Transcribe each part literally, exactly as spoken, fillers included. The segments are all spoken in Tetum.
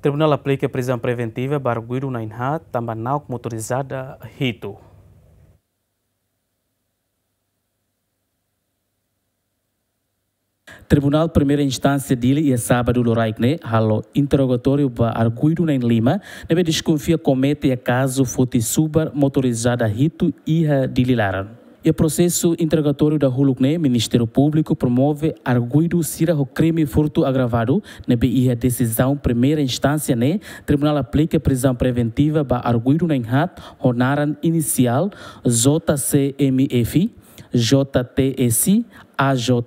Tribunál aplika prizaun preventiva ba arguidu na'in-haat tanba na'ok motorizada hitu. Tribunál Primeira Instánsia Dili iha sábadu loraik ne'e halo interrogatóriu ba arguidu na'in-lima ne'ebé deskonfia komete iha kazu foti subar motorizada hitu iha Dili laran. Iha prosesu interrogatóriu dahuluk ne'e, Ministériu Públiku promove arguidu sira ho krime furtu agravadu ne'ebé iha desizaun primeira instánsia ne'e, tribunál aplika prizaun preventiva ba arguidu na'in-haat ho naran inisiál J C M F, J T S, A J,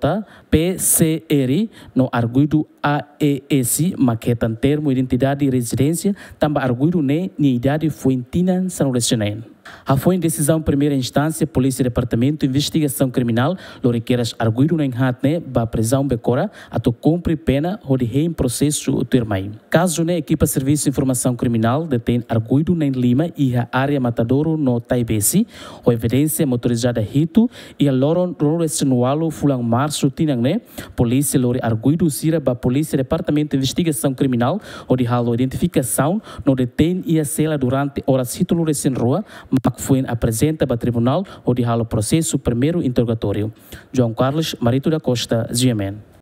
P C R no arguidu A E S, mak hetan termu identidade rezidénsia, tanba arguidu ne'e nia idade foin tinan sanulu-resin-neen. Hafoin desizaun primeira instánsia, Polísia Departamentu Investigasaun Kriminál lori kedas arguidu na'in-haat ne'e ba prizaun Becora atu kumpre pena hodi hein prosesu tuirmai. Kazu ne'e, ekipa Servisu Informasaun Kriminál detein arguidu na'in-lima iha área Matadouro no Taibesi, ho evidénsia motorizada hitu, iha loron ruanulu-resin-ualu fulan Marsu tinan ne'e, polísia lori arguidu sira ba Polísia Departamentu Investigasaun Kriminál hodi halo identifikasaun no detein iha sela durante oras hitunulu-resin-rua, mak foin aprezenta ba tribunál hodi halo prosesu primeiru interrogatóriu. João Carlos Marito da Costa, G M N.